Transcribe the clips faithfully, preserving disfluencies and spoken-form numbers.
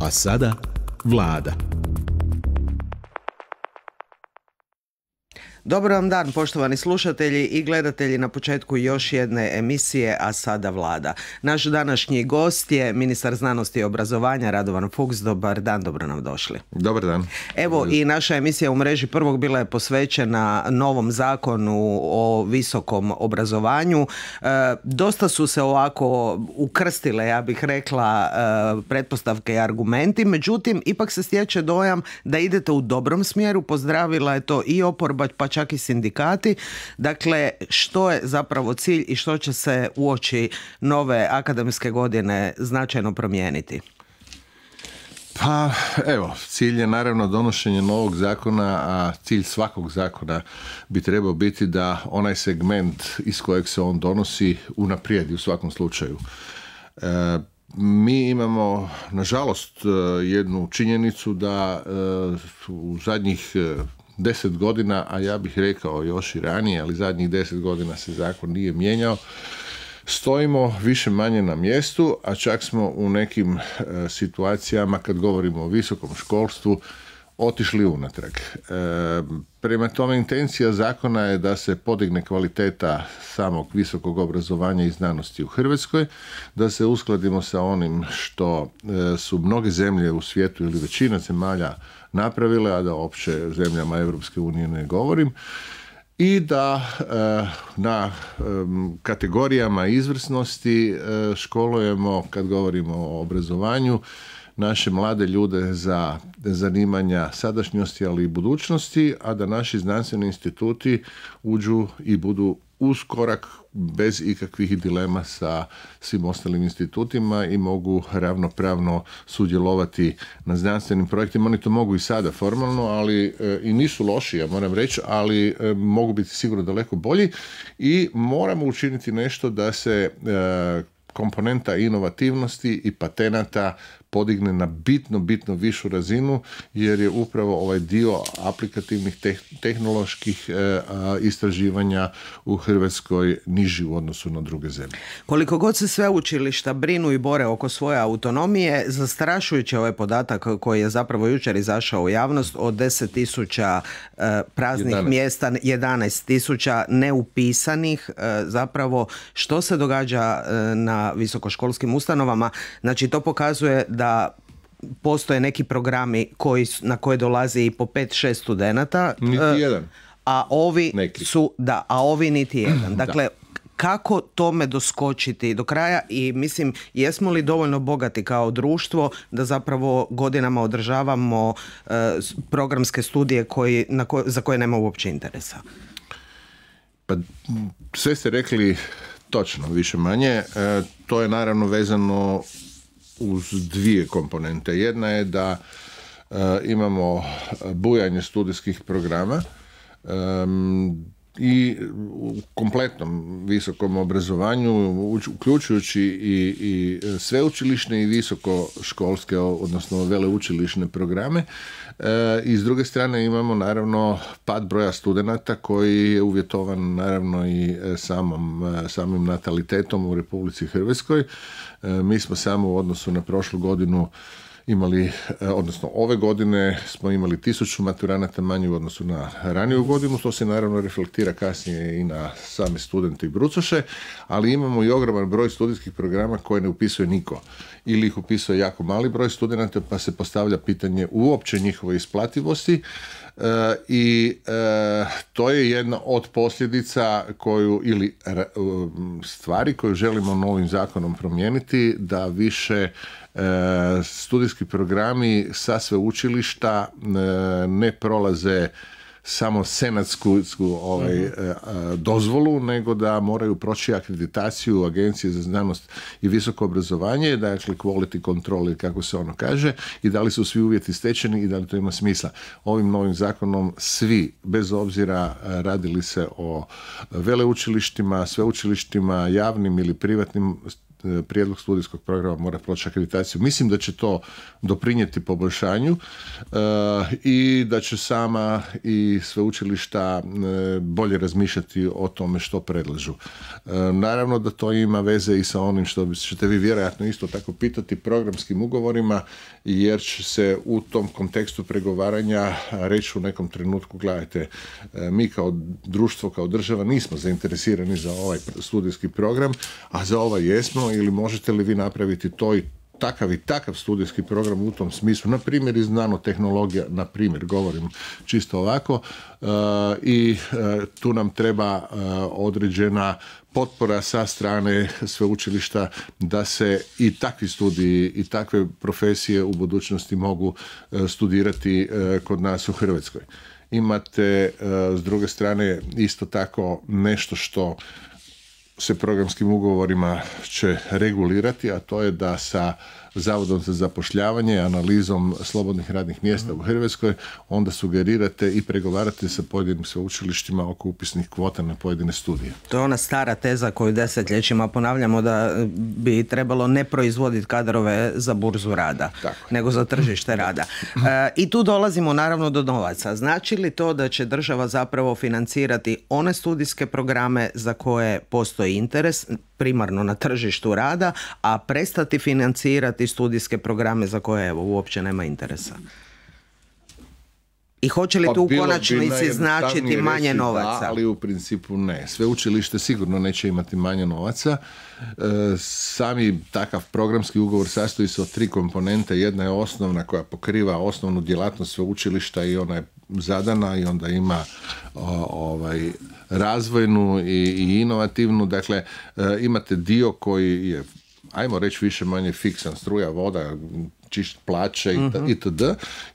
A sada Vlada. Dobar vam dan, poštovani slušatelji i gledatelji, na početku još jedne emisije A sada Vlada. Naš današnji gost je ministar znanosti i obrazovanja Radovan Fuchs. Dobar dan, dobro nam došli. Dobar dan. Evo, i naša emisija u mreži prvog bila je posvećena novom zakonu o visokom obrazovanju. E, dosta su se ovako ukrstile, ja bih rekla, e, pretpostavke i argumenti, međutim, ipak se stječe dojam da idete u dobrom smjeru. Pozdravila je to i oporba, pa čak i sindikati. Dakle, što je zapravo cilj i što će se uoči nove akademske godine značajno promijeniti? Pa evo, cilj je naravno donošenje novog zakona, a cilj svakog zakona bi trebao biti da onaj segment iz kojeg se on donosi unaprijedi u svakom slučaju. E, mi imamo, nažalost, jednu činjenicu da e, u zadnjih deset godina, a ja bih rekao još i ranije, ali zadnjih deset godina se zakon nije mijenjao, stojimo više manje na mjestu, a čak smo u nekim e, situacijama, kad govorimo o visokom školstvu, otišli unatrag. E, prema tome, intencija zakona je da se podigne kvaliteta samog visokog obrazovanja i znanosti u Hrvatskoj, da se uskladimo sa onim što e, su mnoge zemlje u svijetu ili većina zemalja napravile, a da opće zemljama Europske unije ne govorim, i da e, na e, kategorijama izvrsnosti e, školujemo, kad govorimo o obrazovanju, naše mlade ljude za zanimanja sadašnjosti, ali i budućnosti, a da naši znanstveni instituti uđu i budu uz korak bez ikakvih dilema sa svim ostalim institutima i mogu ravnopravno sudjelovati na znanstvenim projektima. Oni to mogu i sada formalno, ali e, i nisu loši, ja moram reći, ali e, mogu biti sigurno daleko bolji i moramo učiniti nešto da se e, komponenta inovativnosti i patenata podigne na bitno, bitno višu razinu, jer je upravo ovaj dio aplikativnih teh- tehnoloških e, istraživanja u Hrvatskoj niži u odnosu na druge zemlje. Koliko god se sve učilišta brinu i bore oko svoje autonomije, zastrašujući ovaj podatak koji je zapravo jučer izašao u javnost od deset tisuća e, praznih jedanaest mjesta, jedanaest tisuća neupisanih, e, zapravo što se događa e, na visokoškolskim ustanovama. Znači, to pokazuje da postoje neki programi koji, na koje dolazi i po pet šest studenata. Niti jedan. A ovi neki. su, da, a ovi niti jedan. Dakle, kako tome doskočiti do kraja i mislim, jesmo li dovoljno bogati kao društvo da zapravo godinama održavamo uh, programske studije koji, na ko, za koje nema uopće interesa? Pa sve ste rekli točno, više manje. E, to je naravno vezano uz dvije komponente. Jedna je da e, imamo bujanje studijskih programa e, i u kompletnom visokom obrazovanju, uključujući i, i sveučilišne i visokoškolske, odnosno veleučilišne programe. E, I s druge strane imamo naravno pad broja studenata koji je uvjetovan naravno i samom, samim natalitetom u Republici Hrvatskoj. E, mi smo samo u odnosu na prošlu godinu imali, odnosno ove godine smo imali tisuću maturanata manje u odnosu na raniju godinu, to se naravno reflektira kasnije i na same studente i brucoše, ali imamo i ogroman broj studijskih programa koje ne upisuje niko. Ili ih upisuje jako mali broj studenata, pa se postavlja pitanje uopće njihove isplativosti. E, i e, to je jedna od posljedica koju, ili e, stvari koju želimo novim zakonom promijeniti, da više e, studijski programi sa sveučilišta e, ne prolaze samo senatsku ovaj, uh-huh. dozvolu, nego da moraju proći akreditaciju Agencije za znanost i visoko obrazovanje, dakle quality control, kako se ono kaže, i da li su svi uvjeti stečeni i da li to ima smisla. Ovim novim zakonom svi, bez obzira radili se o veleučilištima, sveučilištima, javnim ili privatnim, prijedlog studijskog programa mora proći akreditaciju. Mislim da će to doprinijeti poboljšanju e, i da će sama i sveučilišta e, bolje razmišljati o tome što predlažu. E, naravno da to ima veze i sa onim što ćete vi vjerojatno isto tako pitati, programskim ugovorima, jer će se u tom kontekstu pregovaranja reći u nekom trenutku, gledajte, e, mi kao društvo, kao država nismo zainteresirani za ovaj studijski program, a za ovaj jesmo, ili možete li vi napraviti to i takav i takav studijski program u tom smislu, na primjer iz nanotehnologija, na primjer, govorim čisto ovako, e, i e, tu nam treba e, određena potpora sa strane sveučilišta da se i takvi studiji i takve profesije u budućnosti mogu e, studirati e, kod nas u Hrvatskoj. Imate e, s druge strane isto tako nešto što se programskim ugovorima će regulirati, a to je da sa Zavodom za zapošljavanje, analizom slobodnih radnih mjesta u Hrvatskoj, onda sugerirate i pregovarate sa pojedinim sveučilištima oko upisnih kvota na pojedine studije. To je ona stara teza koju desetljećima ponavljamo, da bi trebalo ne proizvoditi kadrove za burzu rada, tako, nego za tržište rada. E, I tu dolazimo naravno do novaca. Znači li to da će država zapravo financirati one studijske programe za koje postoji interes, primarno na tržištu rada, a prestati financirati studijske programe za koje evo uopće nema interesa? I hoće li tu u konačnici značiti manje novaca? Da, ali u principu ne. Sveučilište sigurno neće imati manje novaca. E, sami takav programski ugovor sastoji se od tri komponente. Jedna je osnovna koja pokriva osnovnu djelatnost sveučilišta i ona je zadana, i onda ima o, ovaj razvojnu i, i inovativnu. Dakle, e, imate dio koji je, ajmo reći, više manje fiksan, struja, voda, čišt plaće uh-huh. itd.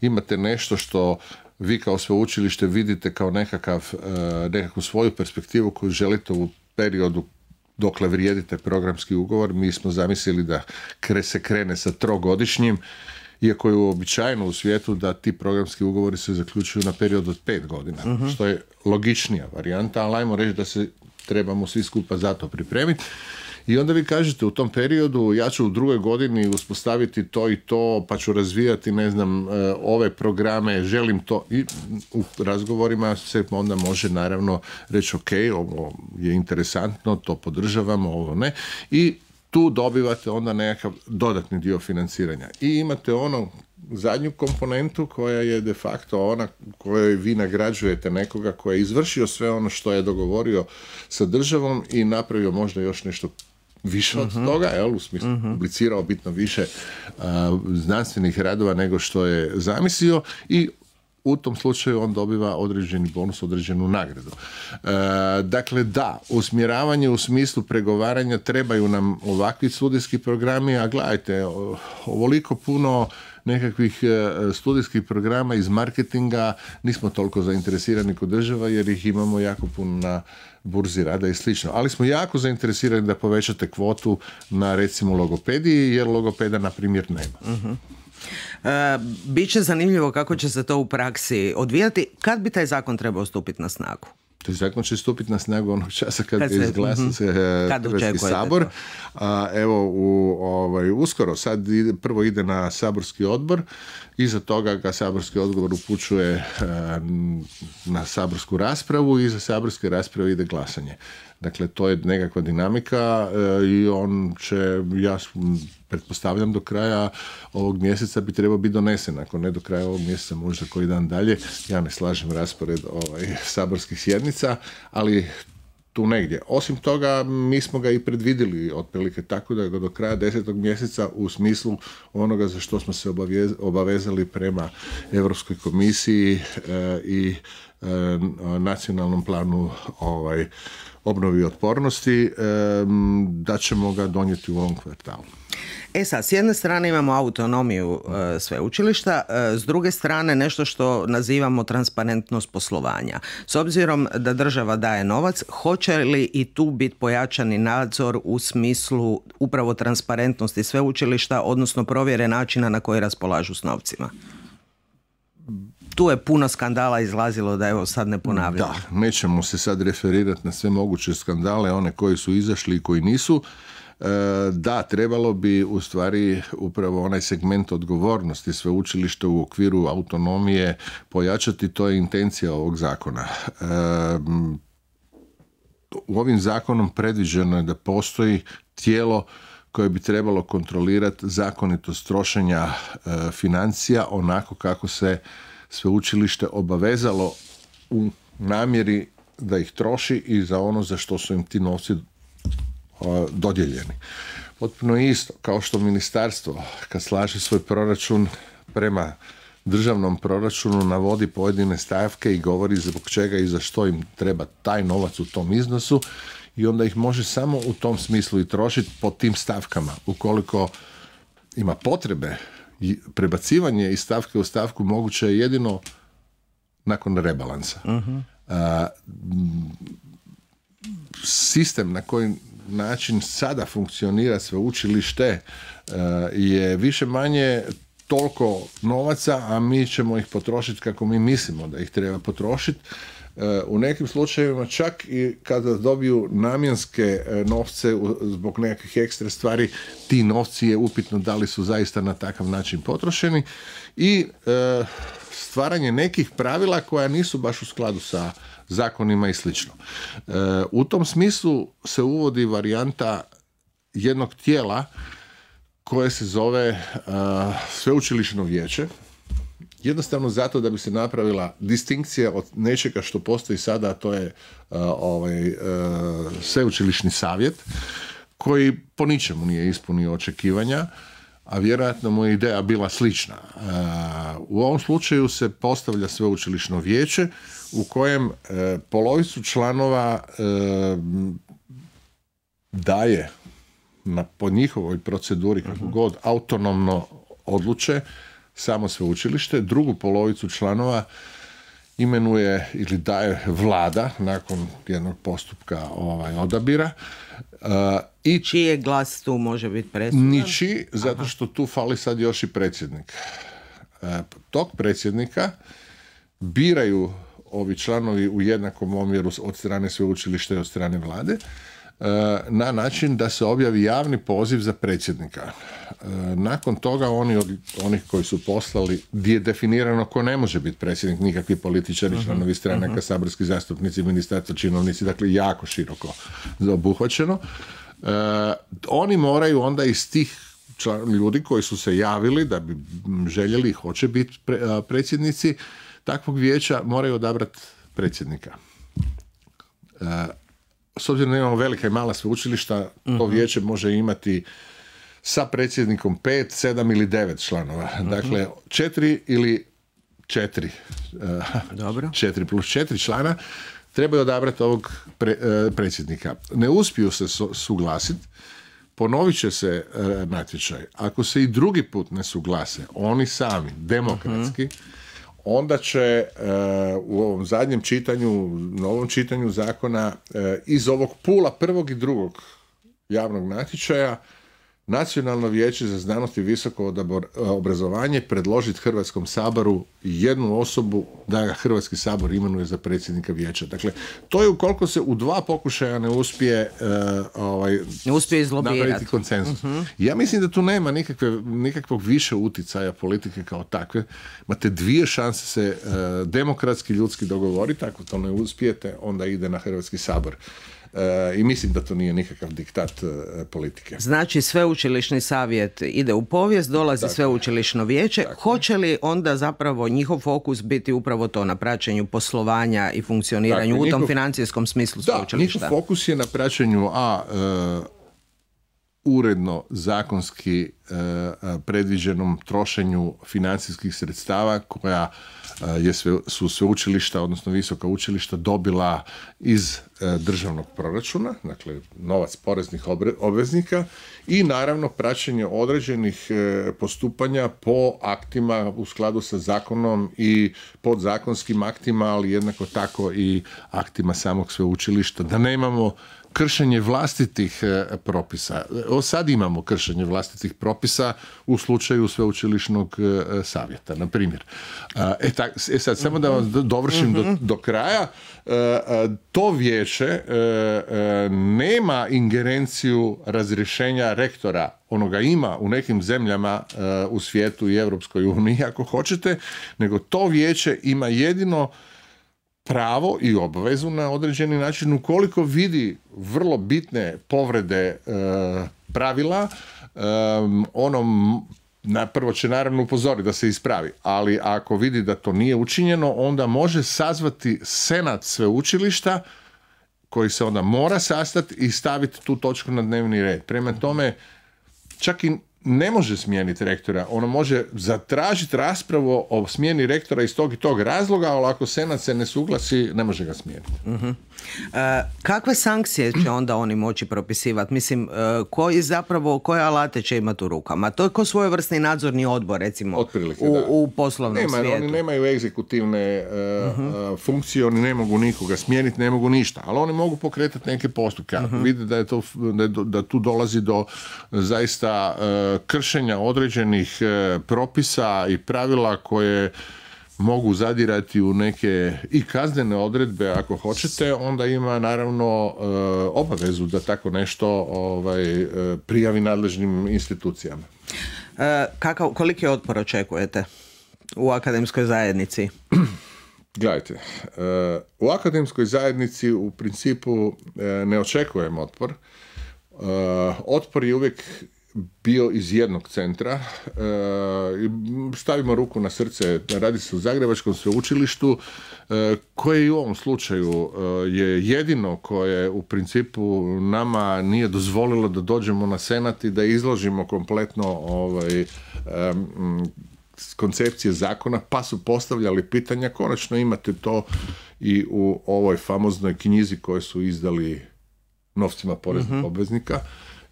Imate nešto što vi kao sveučilište vidite kao nekakav, e, nekakvu svoju perspektivu koju želite u periodu dokle vrijedite programski ugovor. Mi smo zamislili da kre, se krene sa trogodišnjim, iako je uobičajeno u svijetu da ti programski ugovori se zaključuju na period od pet godina, uh-huh. što je logičnija varijanta, ali ajmo reći da se trebamo svi skupa za to pripremiti. I onda vi kažete u tom periodu ja ću u drugoj godini uspostaviti to i to, pa ću razvijati, ne znam, ove programe, želim to. I u razgovorima se onda može naravno reći ok, ovo je interesantno, to podržavamo, ovo ne. I tu dobivate onda nekakav dodatni dio financiranja. I imate ono zadnju komponentu koja je de facto ona kojoj vi nagrađujete nekoga koji je izvršio sve ono što je dogovorio sa državom i napravio možda još nešto više od uh-huh. toga, jel, u smislu uh-huh. publicirao bitno više uh, znanstvenih radova nego što je zamislio, i u tom slučaju on dobiva određeni bonus, određenu nagradu. E, dakle, da, usmjeravanje u smislu pregovaranja, trebaju nam ovakvi studijski programi, a gledajte, ovoliko puno nekakvih studijskih programa iz marketinga nismo toliko zainteresirani kod država, jer ih imamo jako puno na burzi rada i slično. Ali smo jako zainteresirani da povećate kvotu na, recimo, logopediji, jer logopeda, na primjer, nema. Uh-huh. E, Biće zanimljivo kako će se to u praksi odvijati. Kad bi taj zakon trebao stupiti na snagu? Taj zakon će stupiti na snagu onog časa kad, kad se izglasa uh-huh. Hrvatski sabor. A, evo, u, ovaj, uskoro, sad ide, prvo ide na saborski odbor, iza toga ga saborski odbor upućuje a, na saborsku raspravu, i iza saborske rasprave ide glasanje. Dakle, to je nekakva dinamika a, i on će, ja pretpostavljam, do kraja ovog mjeseca bi trebao biti donesen. Ako ne do kraja ovog mjeseca, možda koji dan dalje. Ja ne slažem raspored ovaj, saborskih sjednica, ali tu negdje. Osim toga, mi smo ga i predvidjeli otprilike tako da do kraja desetog mjeseca, u smislu onoga za što smo se obavezali prema Europskoj komisiji e, i e, nacionalnom planu ovaj, obnovi i otpornosti, e, da ćemo ga donijeti u ovom kvartalu. E sad, s jedne strane imamo autonomiju e, sveučilišta, e, s druge strane nešto što nazivamo transparentnost poslovanja. S obzirom da država daje novac, hoće li i tu biti pojačani nadzor u smislu upravo transparentnosti sveučilišta, odnosno provjere načina na koji raspolažu s novcima? Tu je puno skandala izlazilo, da evo sad ne ponavljam. Da, nećemo se sad referirati na sve moguće skandale, one koji su izašli i koji nisu. Da, trebalo bi u stvari upravo onaj segment odgovornosti sveučilišta u okviru autonomije pojačati, to je intencija ovog zakona. U ovim zakonom predviđeno je da postoji tijelo koje bi trebalo kontrolirati zakonitost trošenja financija onako kako se sveučilište obavezalo u namjeri da ih troši i za ono za što su im ti novci dodijeljeni. Potpuno isto, kao što ministarstvo kad slaže svoj proračun prema državnom proračunu navodi pojedine stavke i govori zbog čega i za što im treba taj novac u tom iznosu i onda ih može samo u tom smislu i trošiti po tim stavkama. Ukoliko ima potrebe, prebacivanje iz stavke u stavku moguće je jedino nakon rebalansa. Uh-huh. A, sistem na koji način sada funkcionira sveučilište je više manje toliko novaca, a mi ćemo ih potrošiti kako mi mislimo da ih treba potrošiti. U nekim slučajevima čak i kada dobiju namjenske novce zbog nekakvih ekstra stvari, ti novci je upitno da li su zaista na takav način potrošeni i stvaranje nekih pravila koja nisu baš u skladu sa zakonima i slično. U tom smislu se uvodi varijanta jednog tijela koje se zove sveučilišno vijeće, jednostavno zato da bi se napravila distinkcija od nečega što postoji sada, a to je uh, ovaj, uh, sveučilišni savjet, koji po ničemu nije ispunio očekivanja, a vjerojatno mu je ideja bila slična. Uh, u ovom slučaju se postavlja sveučilišno vijeće u kojem uh, polovicu članova uh, daje na, po njihovoj proceduri kako god autonomno odluče samo sveučilište, drugu polovicu članova imenuje ili daje vlada nakon jednog postupka ovaj, odabira. Uh, i čiji glas tu može biti presudan? Ničiji, zato Aha. što tu fali sad još i predsjednik. Uh, tog predsjednika biraju ovi članovi u jednakom omjeru od strane sveučilišta i od strane vlade, na način da se objavi javni poziv za predsjednika. Nakon toga oni od onih koji su poslali, gdje je definirano ko ne može biti predsjednik, nikakvi političari, članovi uh-huh. stranaka, uh-huh. saborski zastupnici, ministarstva, činovnici, dakle jako široko obuhvaćeno. Uh, oni moraju onda iz tih član, ljudi koji su se javili da bi željeli, hoće biti pre, uh, predsjednici takvog vijeća, moraju odabrati predsjednika. Uh, S obzirom da imamo velika i mala sveučilišta, uh-huh. to vijeće može imati sa predsjednikom pet, sedam ili devet članova. Uh-huh. Dakle, četiri ili četiri, Dobro. četiri plus četiri člana trebaju odabrati ovog pre, predsjednika. Ne uspiju se suglasiti, ponovit će se natječaj. Ako se i drugi put ne suglase, oni sami, demokratski, uh-huh. onda će uh, u ovom zadnjem čitanju, novom čitanju zakona uh, iz ovog pula prvog i drugog javnog natječaja Nacionalno vijeće za znanost i visoko obrazovanje predložiti Hrvatskom saboru jednu osobu da ga Hrvatski sabor imenuje za predsjednika vijeća. Dakle, to je ukoliko se u dva pokušaja ne uspije uh, ovaj, ne uspije izlobirati. Napraviti konsenzus. Uh-huh. Ja mislim da tu nema nikakve, nikakvog više uticaja politike kao takve. Imate dvije šanse se uh, demokratski, ljudski dogovoriti. Ako to ne uspijete, onda ide na Hrvatski sabor. I mislim da to nije nikakav diktat politike. Znači sveučilišni savjet ide u povijest, dolazi tako, sveučilišno vijeće. Tako. Hoće li onda zapravo njihov fokus biti upravo to na praćenju poslovanja i funkcioniranju tako, u tom njihov, financijskom smislu sveučilišta? Da, njihov fokus je na praćenju a uh, uredno zakonski uh, predviđenom trošenju financijskih sredstava koja je sve, su sveučilišta, odnosno visoka učilišta dobila iz e, državnog proračuna, dakle novac poreznih obre, obveznika i naravno praćenje određenih e, postupanja po aktima u skladu sa zakonom i podzakonskim aktima, ali jednako tako i aktima samog sveučilišta, da nemamo kršenje vlastitih propisa. O, sad imamo kršenje vlastitih propisa u slučaju sveučilišnog savjeta, na primjer. E, tak, e sad, samo da vam dovršim do, do kraja. To vijeće nema ingerenciju razrješenja rektora, onoga ima u nekim zemljama u svijetu i Europskoj uniji, ako hoćete, nego to vijeće ima jedino pravo i obvezu na određeni način ukoliko vidi vrlo bitne povrede e, pravila, e, ono na prvo će naravno upozoriti da se ispravi, ali ako vidi da to nije učinjeno, onda može sazvati senat sveučilišta koji se onda mora sastati i staviti tu točku na dnevni red. Prema tome, čak i ne može smijeniti rektora, ono može zatražiti raspravu o smjeni rektora iz tog i tog razloga, ali ako senat se ne suglasi, ne može ga smijeniti. Uh-huh. E, kakve sankcije će onda oni moći propisivati? Mislim, e, koji zapravo, koje alate će imati u rukama? To je ko svojevrsni nadzorni odbor, recimo, Otprilike, u, u poslovnom Nema, svijetu. Oni nemaju egzekutivne uh, uh-huh. funkcije, oni ne mogu nikoga smijeniti, ne mogu ništa, ali oni mogu pokretati neke postupke. Uh-huh. Vide da, je to, da, je, da tu dolazi do zaista uh, kršenja određenih uh, propisa i pravila koje mogu zadirati u neke i kaznene odredbe ako hoćete, onda ima naravno uh, obavezu da tako nešto ovaj, uh, prijavi nadležnim institucijama. Uh, kakav, koliki otpor očekujete u akademskoj zajednici? Gledajte, uh, u akademskoj zajednici u principu uh, ne očekujem otpor. Uh, otpor je uvijek bio iz jednog centra. Stavimo ruku na srce, radi se o Zagrebačkom sveučilištu, koje i u ovom slučaju je jedino koje u principu nama nije dozvolilo da dođemo na senat i da izložimo kompletno ovaj, koncepcije zakona, pa su postavljali pitanja. Konačno imate to i u ovoj famoznoj knjizi koju su izdali novcima poreznih mm-hmm. obveznika,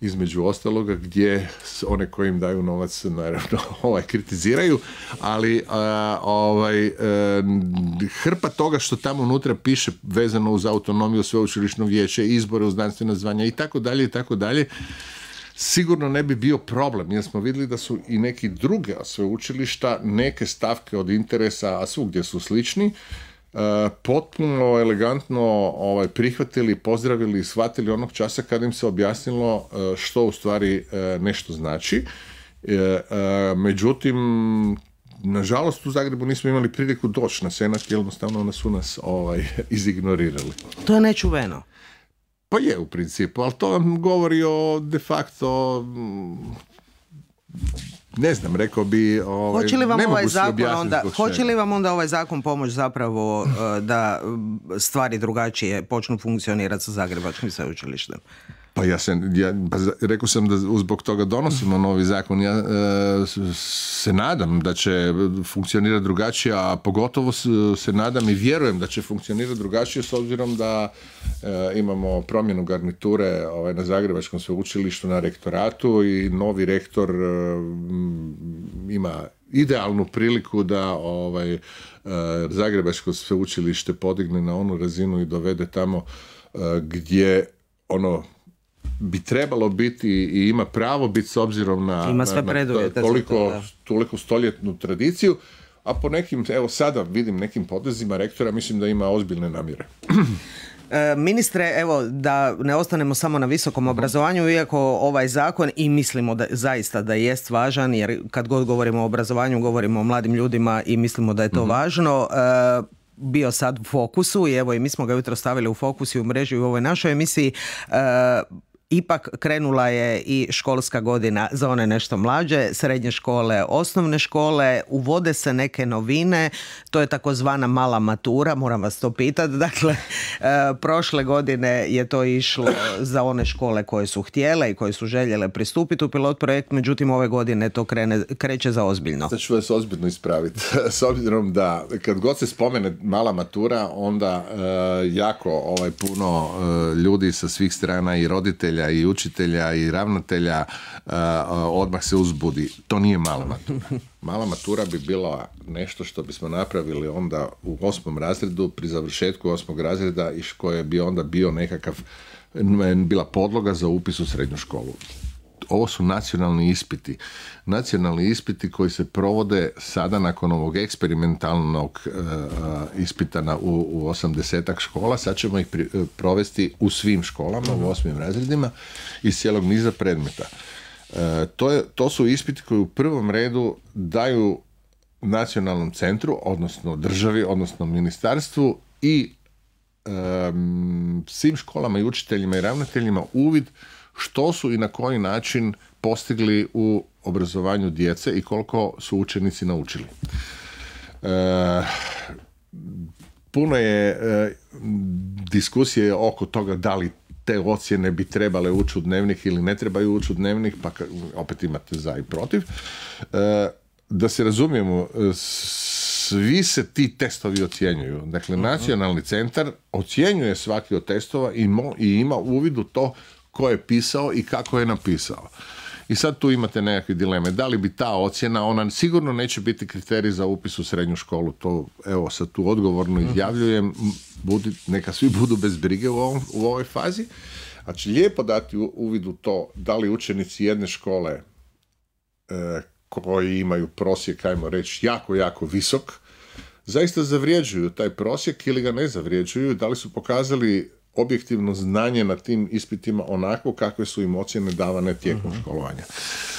između ostaloga, gdje one koji im daju novac naravno ovaj, kritiziraju, ali a, ovaj, a, hrpa toga što tamo unutra piše vezano uz autonomiju sveučilišnog vijeća, izbore u znanstvena zvanja i tako dalje i tako dalje, sigurno ne bi bio problem, jer smo vidjeli da su i neki druge sveučilišta neke stavke od interesa, a svugdje su slični, Uh, potpuno elegantno ovaj, prihvatili, pozdravili i shvatili onog časa kad im se objasnilo uh, što u stvari uh, nešto znači. Uh, uh, međutim, nažalost u Zagrebu nismo imali priliku doći na senat, jednostavno onda su nas ovaj, izignorirali. To je nečuveno. Pa je u principu, ali to vam govori o de facto... Ne znam, rekao bi, ovaj, hoće li vam ne ovaj mogu se zakon objasniti onda, zbog hoće čega. li vam onda ovaj zakon pomoć zapravo uh, da stvari drugačije počnu funkcionirati sa Zagrebačkim sveučilištem? Pa ja, se, ja pa rekao sam da zbog toga donosimo novi zakon. Ja e, se nadam da će funkcionirati drugačije, a pogotovo se nadam i vjerujem da će funkcionirati drugačije s obzirom da e, imamo promjenu garniture ovaj, na Zagrebačkom sveučilištu na rektoratu i novi rektor e, ima idealnu priliku da ovaj, e, Zagrebačko sveučilište podigne na onu razinu i dovede tamo e, gdje ono bi trebalo biti i ima pravo biti s obzirom na, ima sve na, na toliko, toliko stoljetnu tradiciju, a po nekim, evo sada vidim nekim potezima rektora, mislim da ima ozbiljne namjere. Ministre, evo da ne ostanemo samo na visokom obrazovanju, iako ovaj zakon i mislimo da zaista da jest važan, jer kad god govorimo o obrazovanju govorimo o mladim ljudima i mislimo da je to mm-hmm. važno, bio sad u fokusu i evo i mi smo ga jutro stavili u fokus i u mreži u ovoj našoj emisiji. Ipak krenula je i školska godina za one nešto mlađe, srednje škole, osnovne škole, uvode se neke novine, to je takozvana mala matura, moram vas to pitati, dakle, e, prošle godine je to išlo za one škole koje su htjele i koje su željele pristupiti u pilot projekt, međutim ove godine to krene, kreće za ozbiljno. Sad ću vas ozbiljno ispraviti, s obzirom da kad god se spomene mala matura, onda e, jako ovaj, puno e, ljudi sa svih strana i roditelja i učitelja i ravnatelja uh, odmah se uzbudi. To nije mala matura. Mala matura bi bila nešto što bismo napravili onda u osmom razredu, pri završetku osmog razreda i koje bi onda bio nekakav bila podloga za upis u srednju školu. Ovo su nacionalni ispiti. Nacionalni ispiti koji se provode sada nakon ovog eksperimentalnog uh, ispita na, u, u osamdesetak škola. Sad ćemo ih pri, uh, provesti u svim školama, u osmim razredima iz cijelog niza predmeta. Uh, to, je, to su ispiti koji u prvom redu daju nacionalnom centru, odnosno državi, odnosno ministarstvu i um, svim školama i učiteljima i ravnateljima uvid što su i na koji način postigli u obrazovanju djece i koliko su učenici naučili. E, puno je e, diskusije oko toga da li te ocjene bi trebale ući u dnevnik ili ne trebaju ući u dnevnik, pa opet imate za i protiv. E, da se razumijemo, svi se ti testovi ocjenjuju. Dakle, nacionalni centar ocjenjuje svaki od testova i, mo, i ima uvid u to ko je pisao i kako je napisao. I sad tu imate nekakve dileme. Da li bi ta ocjena, ona sigurno neće biti kriterij za upis u srednju školu. To, evo, sad tu odgovorno izjavljujem. Budi, neka svi budu bez brige u, ovom, u ovoj fazi. Znači, lijepo dati uvid u to da li učenici jedne škole e, koji imaju prosjek, ajmo reći, jako, jako visok, zaista zavrijeđuju taj prosjek ili ga ne zavrijeđuju, da li su pokazali objektivno znanje na tim ispitima onako kakve su im ocjene davane tijekom uh-huh. školovanja.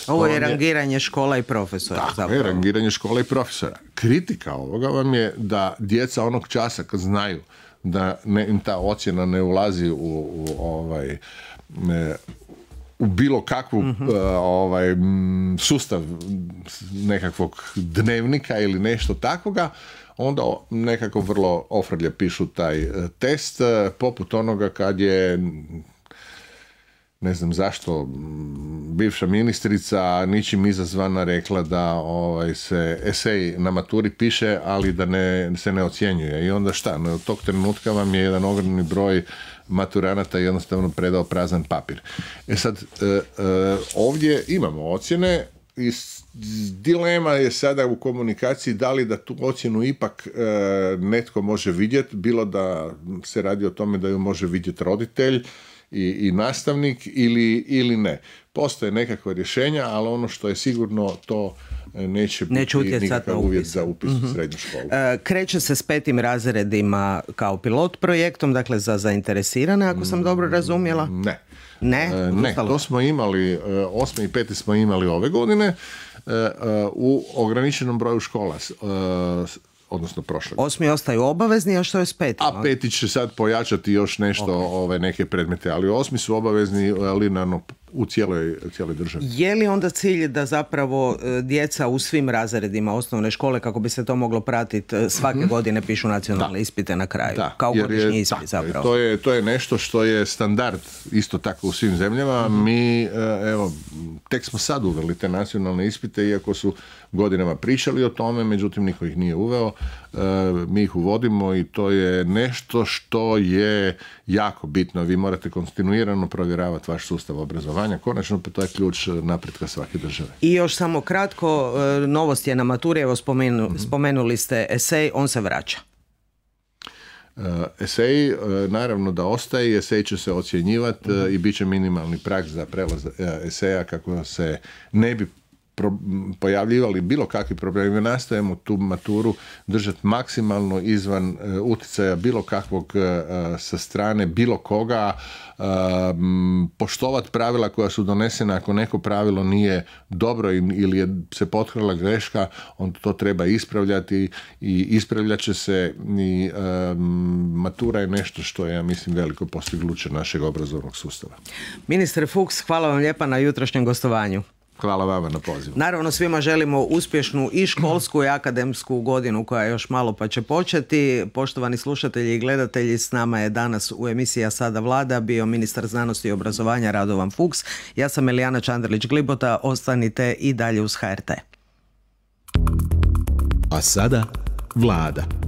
Ovo je rangiranje škola i profesora. Tako zapravo. je, rangiranje škola i profesora. Kritika ovoga vam je da djeca onog časa kad znaju da ne, im ta ocjena ne ulazi u, u, ovaj, ne, u bilo kakvu uh-huh. uh, ovaj, sustav nekakvog dnevnika ili nešto takvoga, onda nekako vrlo ofrlje pišu taj test, poput onoga kad je, ne znam zašto, bivša ministrica ničim izazvana rekla da ovaj, se esej na maturi piše, ali da ne, se ne ocjenjuje. I onda šta? No, od tog trenutka vam je jedan ogromni broj maturanata jednostavno predao prazan papir. E sad, e, e, ovdje imamo ocjene i dilema je sada u komunikaciji da li da tu ocjenu ipak e, netko može vidjeti, bilo da se radi o tome da ju može vidjeti roditelj i, i nastavnik ili, ili ne. Postoje nekakva rješenja, ali ono što je sigurno to neće biti neće nikakav uvjet za upis uh-huh. u srednju školu. E, kreće se s petim razredima kao pilot projektom, dakle za zainteresirane, ako sam dobro razumjela? Ne. Ne, e, ne, to smo imali, osmi i peti smo imali ove godine e, u ograničenom broju škola, e, odnosno prošle. Osmi ostaju obavezni, a što je s petim? A peti će sad pojačati još nešto, okay. ove, neke predmete, ali osmi su obavezni linearno u cijeloj, cijeloj državi. Je li onda cilj da zapravo djeca u svim razredima osnovne škole, kako bi se to moglo pratiti, svake mm-hmm. godine pišu nacionalne da. ispite na kraju? Da. Kao godišnji ispit zapravo. To je, to je nešto što je standard isto tako u svim zemljama. Mm-hmm. Mi, evo, tek smo sad uveli te nacionalne ispite, iako su godinama pričali o tome, međutim niko ih nije uveo. Mi ih uvodimo i to je nešto što je jako bitno. Vi morate kontinuirano provjeravati vaš sustav obrazovanja. Konačno, pa to je ključ napretka svake države. I još samo kratko, novost je na maturi, evo spomenu, mm-hmm. spomenuli ste esej, on se vraća. Uh, esej, uh, naravno da ostaje, esej će se ocjenjivati mm-hmm. uh, i bit će minimalni prag za prelaz uh, eseja kako se ne bi pro, pojavljivali bilo kakvi problemi. Nastojimo tu maturu držati maksimalno izvan uh, utjecaja bilo kakvog uh, sa strane bilo koga, uh, poštovati pravila koja su donesena. Ako neko pravilo nije dobro ili je se potkrala greška, onda to treba ispravljati i ispravljat će se i uh, matura je nešto što je, ja mislim, veliko postignuće našeg obrazovnog sustava. Ministre Fuchs, hvala vam lijepa na jutrošnjem gostovanju. Hvala vama na pozivu. Naravno, svima želimo uspješnu i školsku i akademsku godinu koja još malo pa će početi. Poštovani slušatelji i gledatelji, s nama je danas u emisiji Sada Vlada bio ministar znanosti i obrazovanja Radovan Fuchs. Ja sam Elijana Čandrlić-Glibota. Ostanite i dalje uz H R T. A sada Vlada.